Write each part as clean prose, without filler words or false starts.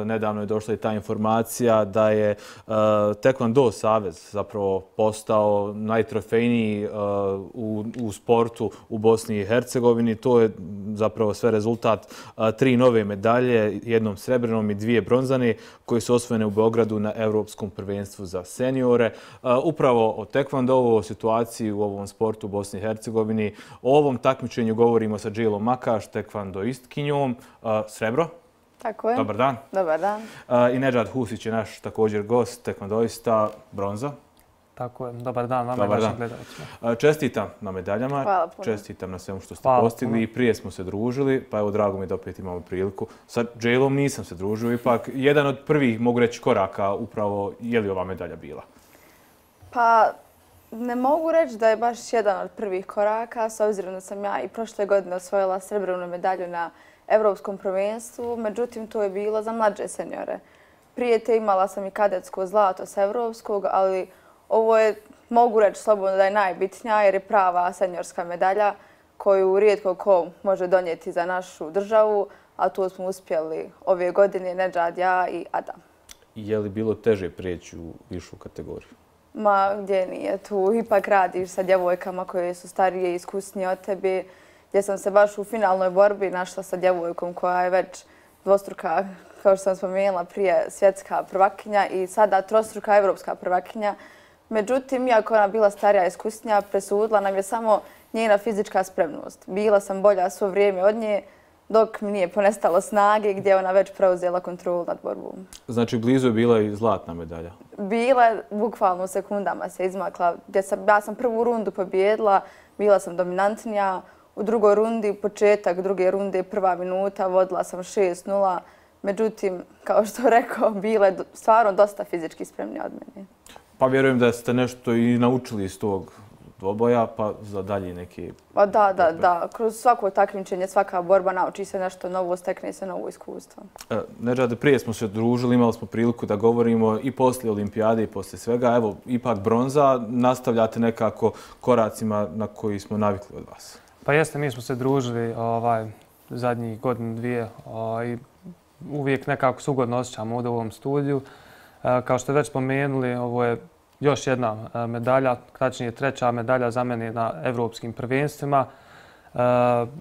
Nedavno je došla i ta informacija da je Taekwondo savez zapravo postao najtrofejniji u sportu u Bosni i Hercegovini. To je zapravo sve rezultat 3 nove medalje, jednom srebrnom i 2 bronzane, koje su osvojene u Beogradu na Evropskom prvenstvu za seniore. Upravo o Taekwondovu, o situaciji u ovom sportu u Bosni i Hercegovini. O ovom takmičenju govorimo sa Džilom Makaš, tekvandoistkinjom. Srebro. Tako je. Dobar dan. Dobar dan. I Nedžad Husić je naš također gost, tekvandoista, bronza. Tako je. Dobar dan vama i vašim gledalcima. Čestitam na medaljama. Hvala puno. Čestitam na svemu što ste postigli. I prije smo se družili, pa evo drago mi da opet imamo priliku. Sa Dželom nisam se družio, ipak jedan od prvih, mogu reći, koraka upravo je li ova medalja bila? Pa ne mogu reći da je baš jedan od prvih koraka, s obzirom da sam ja i prošle godine osvojila srebrnu medalju na Evropskom prvenstvu, međutim to je bilo za mlađe seniore. Prije te imala sam i kadetsko zlato s Evropskog, ali ovo je, mogu reći slobodno da je najbitnija jer je prava seniorska medalja koju rijetko ko može donijeti za našu državu, a tu smo uspjeli ove godine Nedžad, ja i Adam. Je li bilo teže prijeći u višu kategoriju? Ma gdje nije, tu ipak radiš sa djevojkama koje su starije i iskusnije od tebe, gdje sam se baš u finalnoj borbi našla sa djevojkom koja je već dvostruka, kao što sam spomenula prije, svjetska prvakinja i sada trostruka evropska prvakinja. Međutim, iako ona bila starija i iskusnija, presudila nam je samo njena fizička spremnost. Bila sam bolja svo vrijeme od nje, dok mi nije ponestalo snage gdje je ona već preuzela kontrolu nad borbom. Znači, blizu je bila i zlatna medalja? Bila je, bukvalno u sekundama se izmakla. Ja sam prvu rundu pobjedila, bila sam dominantnija. U drugoj rundi, početak druge runde, prva minuta, vodila sam 6-0. Međutim, kao što rekao, bila je stvarno dosta fizički spremnija od mene. Pa vjerujem da ste nešto i naučili iz tog dvoboja, pa za dalje neki... Pa da. Kroz svako takmičenje, svaka borba nauči se nešto novo, stekne se novo iskustvo. Nedžade, prije smo se družili, imali smo priliku da govorimo i poslije olimpijade i poslije svega. Evo, ipak bronza, nastavljate nekako koracima na koji smo navikli od vas. Pa jeste, mi smo se družili zadnjih godinu, dvije i uvijek nekako se ugodno osjećamo ovdje u ovom studiju. Kao što ste već spomenuli, ovo je još jedna medalja, tačnije 3. medalja za mene na evropskim prvenstvima.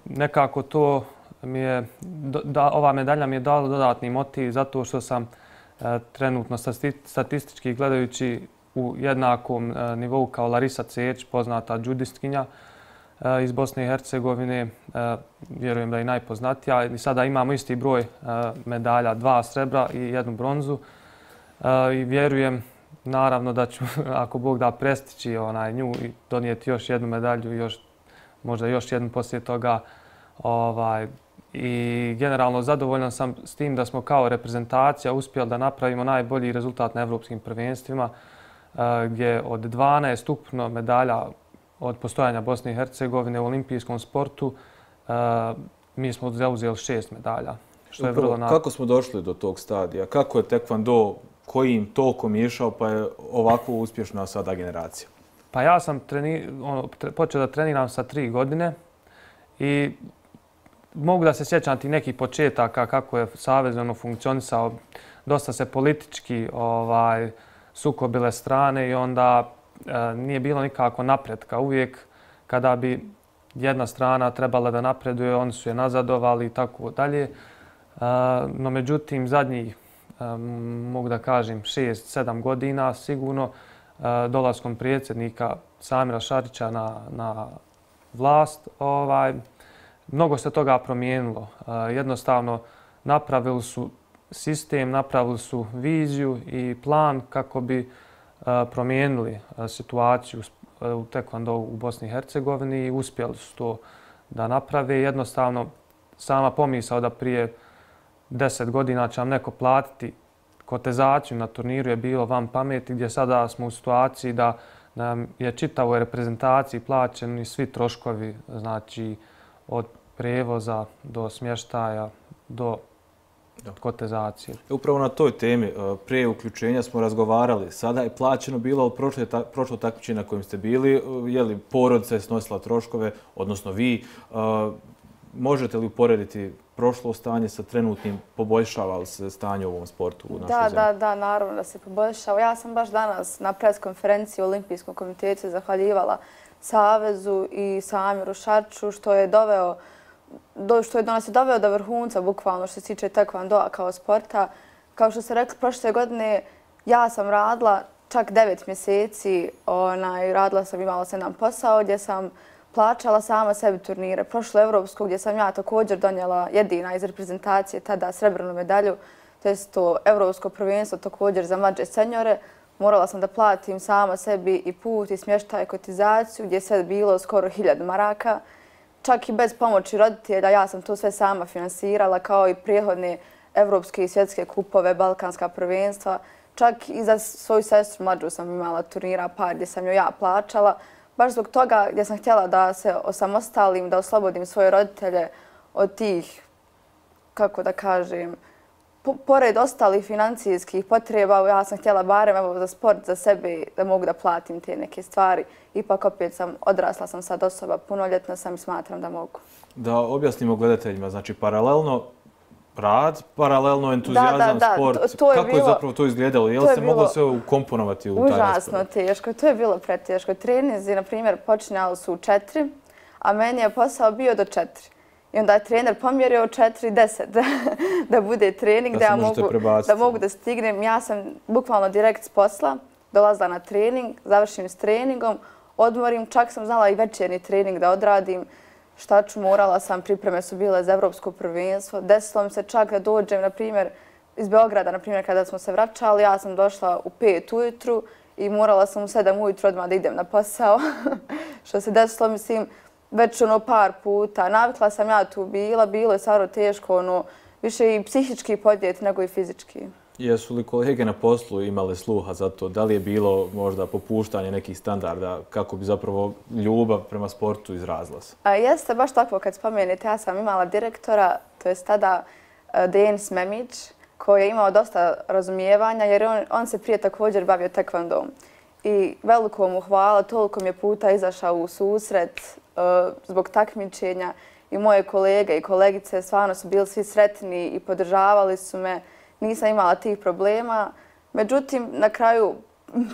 Nekako to mi je, ova medalja mi je dala dodatni motiv zato što sam trenutno statistički gledajući u jednakom nivou kao Larisa Cerić, poznata džudistkinja iz Bosne i Hercegovine, vjerujem da je najpoznatija. I sada imamo isti broj medalja, 2 srebra i 1 bronzu. I vjerujem, naravno, da ću, ako Bog da, prestići nju i donijeti još jednu medalju i možda još jednu poslije toga. I generalno zadovoljan sam s tim da smo kao reprezentacija uspjeli da napravimo najbolji rezultat na evropskim prvenstvima, gdje od 12 ukupno medalja od postojanja Bosne i Hercegovine u olimpijskom sportu, mi smo zauzeli 6 medalja. Što je vrlo kako smo došli do tog stadija? Kako je Taekwondo, kojim tokom išao, pa je ovako uspješna sada generacija? Pa ja sam počeo da treniram sa 3 godine i mogu da se sjećam ti nekih početaka kako je savez funkcionisao. Dosta se politički sukobile strane i onda nije bilo nikako napretka. Uvijek kada bi jedna strana trebala da napreduje, oni su je nazadovali i tako dalje. No međutim, zadnjih, mogu da kažem, 6-7 godina sigurno dolaskom predsjednika Samira Šarića na vlast, mnogo se toga promijenilo. Jednostavno, napravili su sistem, napravili su viziju i plan kako bi promijenili situaciju u Taekwondo u Bosni i Hercegovini i uspjeli su to da naprave. Jednostavno, sama pomisao da prije 10 godina će vam neko platiti kotizaciju na turniru je bilo van pameti, gdje sada smo u situaciji da nam je čitavoj reprezentaciji plaćeni svi troškovi, znači od prevoza do smještaja do kotizacije. Upravo na toj temi, prije uključenja smo razgovarali. Sada je plaćeno bilo od prošlo takmičenja na kojem ste bili. Je li porodica je snosila troškove, odnosno vi? možete li uporediti prošlo stanje sa trenutnim, poboljšava li se stanje u ovom sportu u našoj zemlji? Da, naravno da se poboljšava. Ja sam baš danas na preskonferenciji u Olimpijskom komitetu zahvaljivala Savezu i Samiru Šarču što je nas doveo do vrhunca, bukvalno što se tiče taekwondoa kao sporta. Kao što ste rekli, prošle godine ja sam radila čak 9 mjeseci, imala sam jedan posao gdje sam plaćala sama sebi turnire. Prošlo evropsko gdje sam ja također donijela jedina iz reprezentacije tada srebrnu medalju, to je to evropsko prvenstvo također za mlađe senjore. Morala sam da platim sama sebi i put i smještaj i kotizaciju gdje je sve bilo skoro 1000 maraka. Čak i bez pomoći roditelja ja sam to sve sama finansirala kao i prijehodne evropske i svjetske kupove, balkanska prvenstva. Čak i za svoju sestru mlađu sam imala turnira par gdje sam joj ja plaćala. Baš zbog toga gdje sam htjela da se osamostalim, da oslobodim svoje roditelje od tih, kako da kažem, pored ostalih financijskih potreba, ja sam htjela barem za sport, za sebe, da mogu da platim te neke stvari. Ipak opet odrasla sam sad osoba, punoljetna sam i smatram da mogu. Da objasnimo gledateljima, znači paralelno rad, paralelno entuzijazam, sport. Kako je zapravo to izgledalo? Je li se moglo sve ukomponovati u taj raspored? Užasno teško, to je bilo preteško. Treninzi, na primjer, počinjali su u 4, a meni je posao bio do 4. I onda je trener pomjerio 4:10 da bude trening, da mogu da stignem. Ja sam bukvalno direkt s posla dolazila na trening, završim s treningom, odmorim, čak sam znala i večerni trening da odradim. Šta ću, morala sam, pripreme su bile za evropsko prvenstvo. Desilo mi se čak da dođem, na primjer, iz Beograda, na primjer, kada smo se vraćali, ja sam došla u 5 ujutru i morala sam u 7 ujutru odmah da idem na posao. Što se desilo, mislim, već par puta. Navikla sam ja tu bilo je stvarno teško, više i psihički podnijeti nego i fizički. Jesu li kolege na poslu imale sluha za to? Da li je bilo možda popuštanje nekih standarda kako bi zapravo ljubav prema sportu izrazila se? Jeste, baš tako kad spomenete. Ja sam imala direktora, to je tada Denis Memić, koji je imao dosta razumijevanja jer on se prije također bavio taekwondom. I veliko mu hvala, toliko mi je puta izašao u susret zbog takmičenja i moje kolege i kolegice stvarno su bili svi sretni i podržavali su me. Nisam imala tih problema. Međutim, na kraju,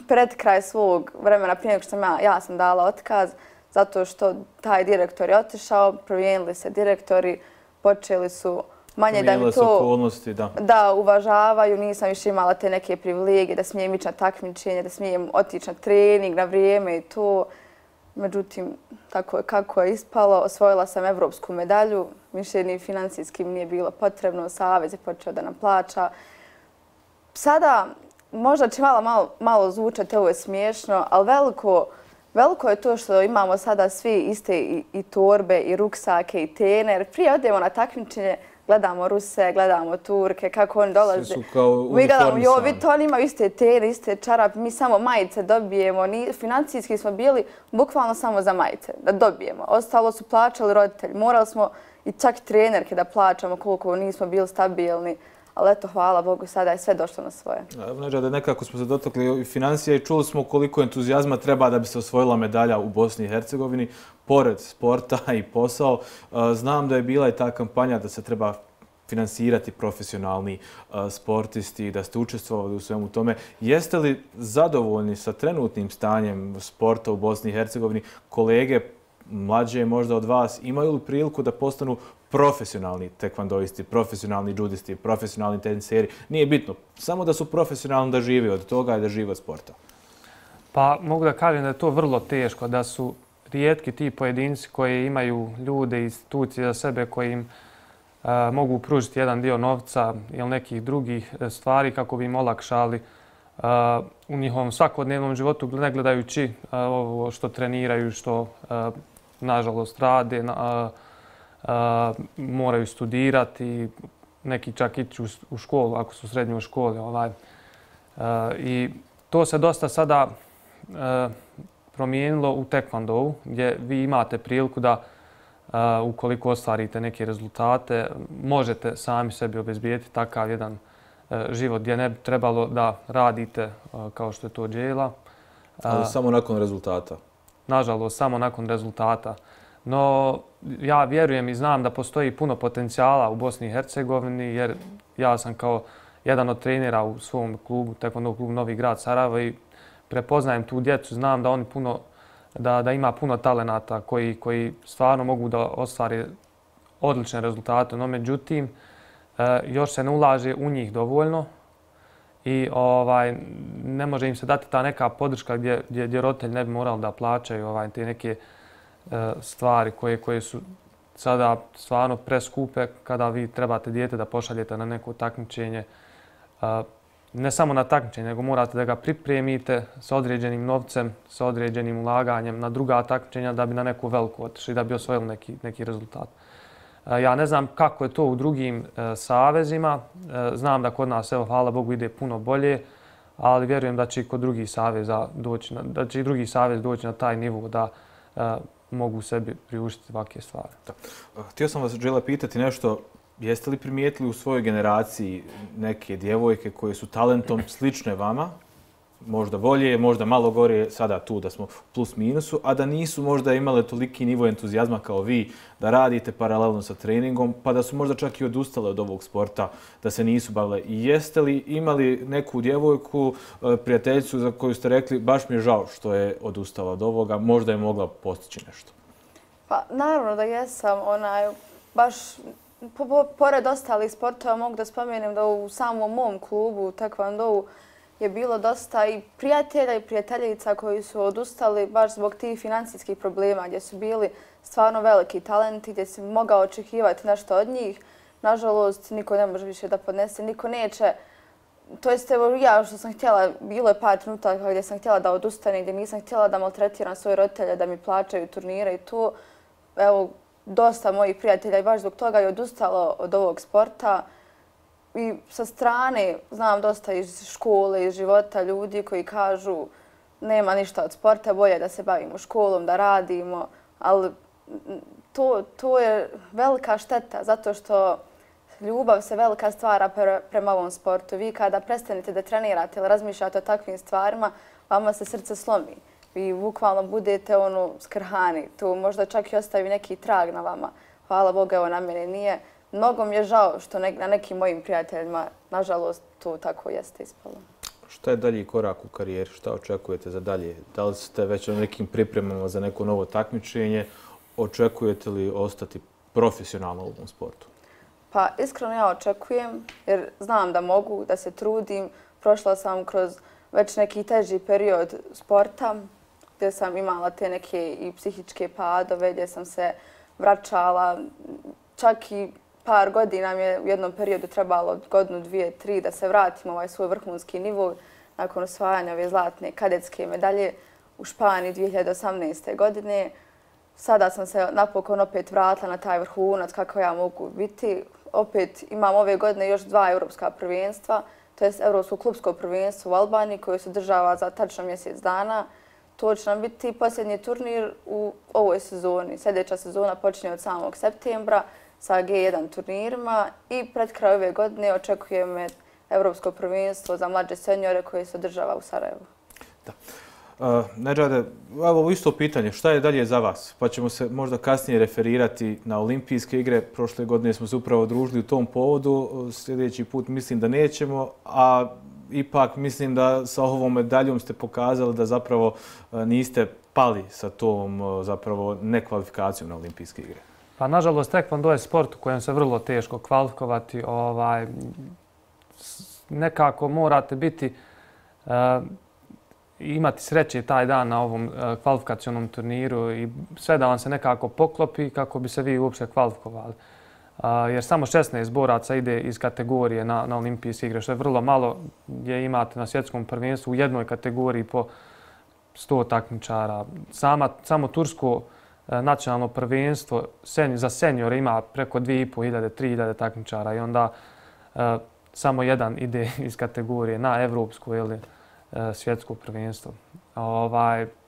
pred kraj svog vremena, prije nego što ja sam dala otkaz, zato što taj direktor je otišao, promijenili se direktori, počeli su manje da mi to da uvažavaju. Nisam više imala te neke privilegije da smijem ići na takmičenje, da smijem otići na trening na vrijeme i to. Međutim, tako je kako je ispalo. Osvojila sam evropsku medalju. Više ni financijski nije bilo potrebno. Savez je počeo da nam plaća. Sada, možda će malo zvučati, ovo je smiješno, ali veliko je to što imamo sada svi iste i torbe, i ruksake, i tener. Prije odemo na takmičenje, gledamo Ruse, gledamo Turke, kako oni dolaze. Svi su kao uniformisani. Oni imaju iste tene, iste čarape, mi samo majice dobijemo. Financijski smo bili bukvalno samo za majice, da dobijemo. Ostalo su plaćali roditelji. Morali smo i čak trenerke da plaćamo koliko nismo bili stabilni. Ali eto, hvala Bogu, sada je sve došlo na svoje. Neđade, nekako smo se dotakli i financija i čuli smo koliko entuzijazma treba da bi se osvojila medalja u Bosni i Hercegovini. Pored sporta i posao, znam da je bila i ta kampanja da se treba finansirati profesionalni sportisti, da ste učestvovali u svemu tome. Jeste li zadovoljni sa trenutnim stanjem sporta u Bosni i Hercegovini? Kolege mlađe možda od vas imaju li priliku da postanu profesionalni tekvandoisti, profesionalni judisti, profesionalni teniseri? Nije bitno. Samo da su profesionalni, da živi od toga i da živi od sporta. Pa mogu da kažem da je to vrlo teško, da su rijetki ti pojedinci koji imaju ljude i institucije za sebe koji im mogu pružiti jedan dio novca ili nekih drugih stvari kako bi im olakšali u njihovom svakodnevnom životu, ne gledajući ovo što treniraju, što nažalost rade, moraju studirati, neki čak ići u školu ako su srednje u školi. I to se dosta sada promijenilo u tekvandou gdje vi imate priliku da ukoliko ostvarite neke rezultate možete sami sebi obezbijeti takav jedan život gdje ne bi trebalo da radite kao što je to djela. Ali samo nakon rezultata? Nažalost, samo nakon rezultata. No, ja vjerujem i znam da postoji puno potencijala u Bosni i Hercegovini, jer ja sam kao jedan od trenera u svom klubu, taekwondo klubu Novi Grad Sarajevo, i prepoznajem tu djecu, znam da oni da ima puno talenata koji stvarno mogu da ostvare odlične rezultate. No, međutim, još se ne ulaže u njih dovoljno i ne može im se dati ta neka podrška gdje roditelji ne bi morali da plaćaju te neke stvari koje su sada stvarno preskupe kada vi trebate dijete da pošaljete na neko takmičenje. Ne samo na takmičenje, nego morate da ga pripremite sa određenim novcem, sa određenim ulaganjem na druga takmičenja da bi na neku veliku otišli, da bi osvojili neki rezultat. Ja ne znam kako je to u drugim savezima. Znam da kod nas, evo, hvala Bogu, ide puno bolje, ali vjerujem da će i kod drugih saveza doći na taj nivo da mogu sebi priuštiti ovakve stvari. Htio sam vas, Đela, pitati nešto. Jeste li primijetili u svojoj generaciji neke djevojke koje su talentom slične vama, možda bolje, možda malo gore, sada tu da smo plus minusu, a da nisu možda imale toliki nivo entuzijazma kao vi, da radite paralelno sa treningom, pa da su možda čak i odustale od ovog sporta, da se nisu bavile? I jeste li imali neku djevojku, prijateljicu za koju ste rekli baš mi je žao što je odustala od ovoga, možda je mogla postići nešto? Pa naravno da jesam, baš pored ostalih sportova mogu da spomenem da u samom mom klubu taekwondo je bilo dosta i prijatelja i prijateljica koji su odustali baš zbog tih financijskih problema gdje su bili stvarno veliki talenti, gdje si mogao očekivati nešto od njih. Nažalost, niko ne može više da podnese, niko neće. To jest, evo, ja što sam htjela, bilo je par trenutaka gdje sam htjela da odustanem, gdje nisam htjela da maltretiram svoje roditelje, da mi plaćaju turnire i to. Evo, dosta mojih prijatelja i baš zbog toga je odustalo od ovog sporta. I sa strane znam dosta iz škole, iz života ljudi koji kažu nema ništa od sporta, bolje da se bavimo školom, da radimo, ali to je velika šteta zato što ljubav se velika stvara prema ovom sportu. Vi kada prestanete da trenirate ili razmišljate o takvim stvarima, vama se srce slomi. Vi bukvalno budete skrhani. To možda čak i ostavi neki trag na vama. Hvala Bogu, evo na mene nije. Mnogo mi je žao što na nekim mojim prijateljima, nažalost, to tako jeste ispalo. Šta je dalji korak u karijeri? Šta očekujete za dalje? Da li ste već na nekim pripremama za neko novo takmičenje? Očekujete li ostati profesionalno u ovom sportu? Pa iskreno ja očekujem, jer znam da mogu, da se trudim. Prošla sam kroz već neki teži period sporta, gdje sam imala te neke i psihičke padove, gdje sam se vraćala. Čak i par godina mi je u jednom periodu trebalo, godinu, dvije, tri, da se vratim u ovaj svoj vrhunski nivo nakon osvajanja ove zlatne kadetske medalje u Španiji 2018. godine. Sada sam se napokon opet vratila na taj vrhunac kako ja mogu biti. Opet imam ove godine još 2 europska prvenstva, to je Europsko klubsko prvenstvo u Albaniji koje se održava za tačno mjesec dana. To će nam biti posljednji turnir u ovoj sezoni. Sljedeća sezona počinje od samog septembra sa G1 turnirima i pred kraj ove godine očekuje me Europsko prvenstvo za mlađe seniore koje se održava u Sarajevu. Da. Nedžade, evo isto pitanje, šta je dalje za vas? Pa ćemo se možda kasnije referirati na olimpijske igre. Prošle godine smo se upravo družili u tom povodu. Sljedeći put mislim da nećemo, a ipak mislim da sa ovom medaljom ste pokazali da zapravo niste pali sa tom zapravo nekvalifikacijom na olimpijske igre. Pa nažalost, taekwondo je sport u kojem se vrlo teško kvalifikovati. Nekako morate biti imati sreće taj dan na ovom kvalifikacionom turniru i sve da vam se nekako poklopi kako bi se vi uopšte kvalifikovali. Jer samo 16 boraca ide iz kategorije na olimpijske igre, što je vrlo malo gdje imate na svjetskom prvenstvu u jednoj kategoriji po 100 takmičara. Samo tursko nacionalno prvenstvo za seniore ima preko 2500-3000 takmičara i onda samo jedan ide iz kategorije na evropsko ili svjetsko prvenstvo.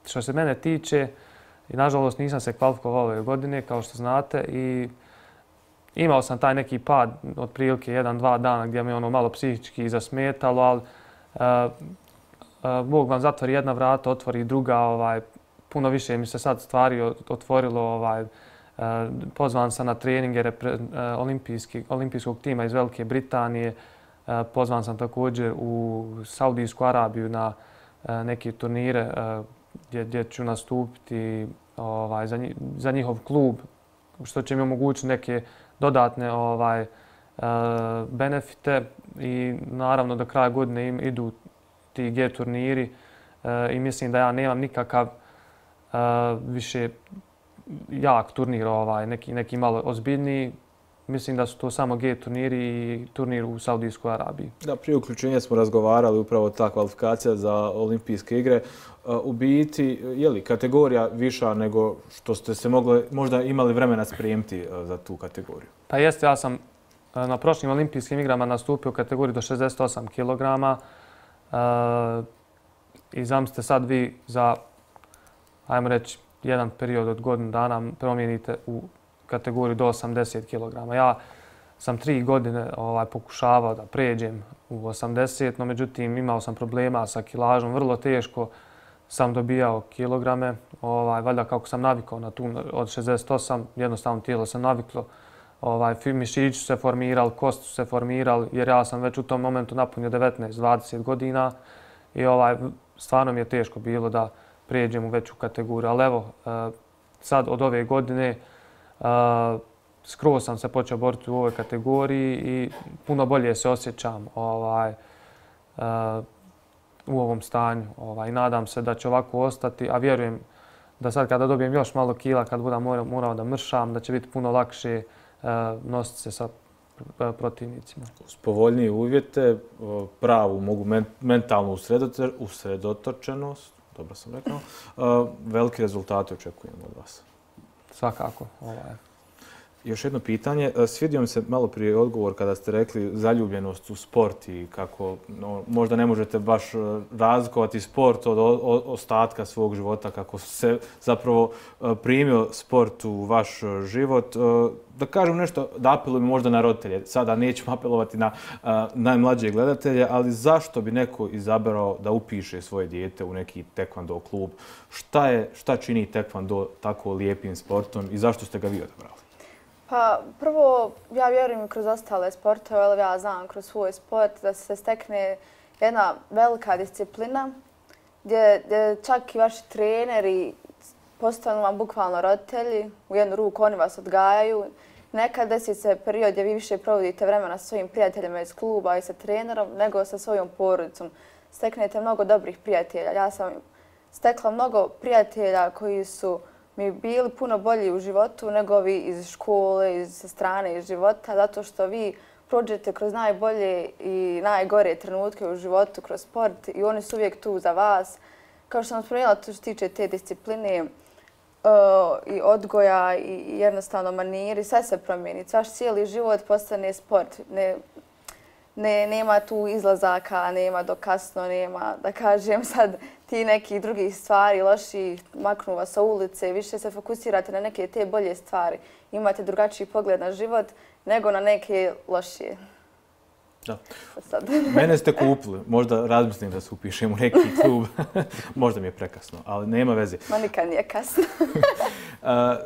Što se mene tiče, nažalost nisam se kvalifikovao ove godine, kao što znate, i imao sam taj neki pad od prilike 1-2 dana gdje me malo psihički zasmetalo, ali Bog vam zatvori jedna vrata, otvori druga. puno više mi se sad stvari otvorilo. Pozvan sam na treninge olimpijskog tima iz Velike Britanije. Pozvan sam također u Saudijsku Arabiju na neke turnire gdje ću nastupiti za njihov klub, što će mi omogućiti neke dodatne benefite i naravno do kraja godine idu ti G turniri i mislim da ja nemam nikakav više jak turnir, neki malo ozbiljniji. Mislim da su to samo G turniri i turnir u Saudijskoj Arabiji. Da, prije uključenja smo razgovarali upravo ta kvalifikacija za olimpijske igre. U biti, je li kategorija viša nego što ste se možda imali vremena spremiti za tu kategoriju? Pa jeste, ja sam na prošlim olimpijskim igrama nastupio u kategoriji do 68 kg. I zamislite sad vi za, ajmo reći, jedan period od godinu dana promijenite u kategoriju do 80 kg. Ja sam 3 godine pokušavao da pređem u 80, no međutim imao sam problema sa kilažom, vrlo teško sam dobijao kilograme. Valjda kako sam navikao na tu od 68, jednostavno tijelo sam naviklo. Mišići su se formirali, kosti su se formirali, jer ja sam već u tom momentu napunio 19-20 godina i stvarno mi je teško bilo da prijeđem u veću kategoriju. Ali evo, sad od ove godine skroz sam se počeo boriti u ovoj kategoriji i puno bolje se osjećam u ovom stanju. Nadam se da će ovako ostati, a vjerujem da sad kada dobijem još malo kila, kad budem morao da mršam, da će biti puno lakše nositi se sa protivnicima. Uz povoljnije uvjete, pravu mentalnu usredotočenost, dobro sam rekao, veliki rezultati očekujemo od vas. Svakako. Još jedno pitanje. Svidio mi se malo prije odgovor kada ste rekli zaljubljenost u sport i kako možda ne možete baš razlikovati sport od ostatka svog života, kako se zapravo primio sport u vaš život. Da kažem nešto, da apelujem možda na roditelje. Sada nećemo apelovati na najmlađe gledatelje, ali zašto bi neko izabrao da upiše svoje dijete u neki taekwondo klub? Šta čini taekwondo tako lijepim sportom i zašto ste ga vi odabrali? Pa prvo, ja vjerujem kroz ostale sportove, ali ja znam kroz svoj sport da se stekne jedna velika disciplina gdje čak i vaši treneri postanu vam bukvalno roditelji, u jednu ruku oni vas odgajaju. Nekad desi se period gdje vi više provodite vremena sa svojim prijateljima iz kluba i sa trenerom nego sa svojom porodicom. Steknete mnogo dobrih prijatelja. Ja sam stekla mnogo prijatelja koji su mi bili puno bolji u životu nego vi iz škole, iz strane, iz života, zato što vi prođete kroz najbolje i najgore trenutke u životu, kroz sport i oni su uvijek tu za vas. Kao što sam spomenula, to što se tiče te discipline i odgoja i jednostavno maniri, sve se promijeni. Vaš cijeli život postane sport. Nema tu izlazaka, nema do kasno, nema, da kažem sad, ti neki drugih stvari loši, maknu vas sa ulice, više se fokusirate na neke te bolje stvari. Imate drugačiji pogled na život nego na neke lošije. Da. Mene ste kupili. Možda razmislim da se upišem u neki klub. Možda mi je prekasno, ali nema veze. Ma nikad nije kasno.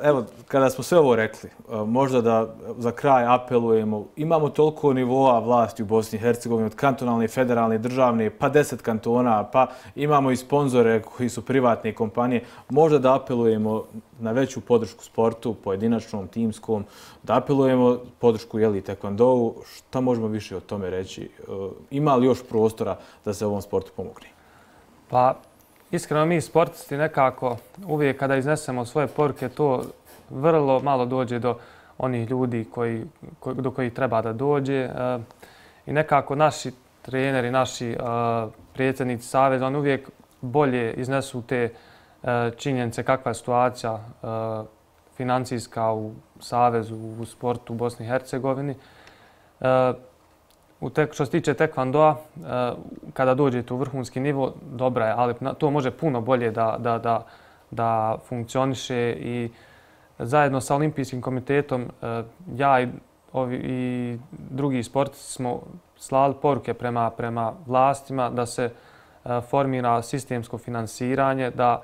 Evo, kada smo sve ovo rekli, možda da za kraj apelujemo. Imamo toliko nivoa vlasti u Bosni i Hercegovini, od kantonalne, federalne, državne, pa 10 kantona, pa imamo i sponzore koji su privatne kompanije. Možda da apelujemo na veću podršku sportu, pojedinačnom, timskom, da apelujemo podršku taekwondou. Šta možemo više o tome reći? Ima li još prostora da se ovom sportu pomogne? Pa, iskreno mi sportisti nekako uvijek kada iznesemo svoje poruke, to vrlo malo dođe do onih ljudi do kojih treba da dođe. I nekako naši treneri, naši predsjednici saveza, oni uvijek bolje iznesu te činjenice kakva je situacija financijska u savezu, u sportu u Bosni i Hercegovini. Što se tiče taekwondoa, kada dođete u vrhunski nivo, dobra je, ali to može puno bolje da funkcioniše i zajedno sa Olimpijskim komitetom ja i drugi sportisti smo slali poruke prema vlastima da se formira sistemsko finansiranje, da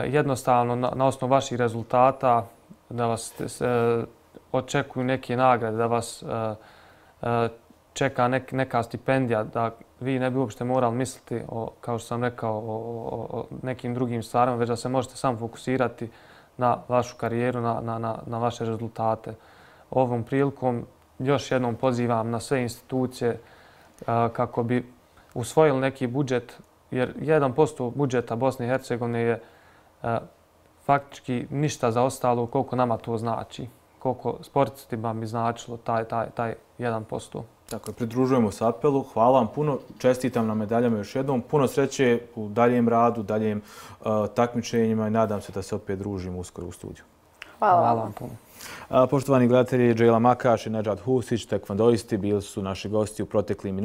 jednostavno na osnovu vaših rezultata da vas očekuju neke nagrade, da vas čeka neka stipendija, da vi ne bi uopšte morali misliti, kao što sam rekao, o nekim drugim stvarima, već da se možete samo fokusirati na vašu karijeru, na vaše rezultate. Ovom prilikom još jednom pozivam na sve institucije kako bi usvojili neki budžet, jer 1% budžeta Bosne i Hercegovine je faktički ništa za ostalo, koliko nama to znači, koliko sportistima bi značilo taj 1%. Tako je, pridružujemo se apelu. Hvala vam puno, čestitam na medaljama još jednom. Puno sreće u daljem radu, daljem takmičenjima i nadam se da se opet družimo uskoro u studiju. Hvala vam puno. Poštovani gledatelji, Džejla Makaš i Nedžad Husić, tekvandoisti, bili su naši gosti u proteklim minutima.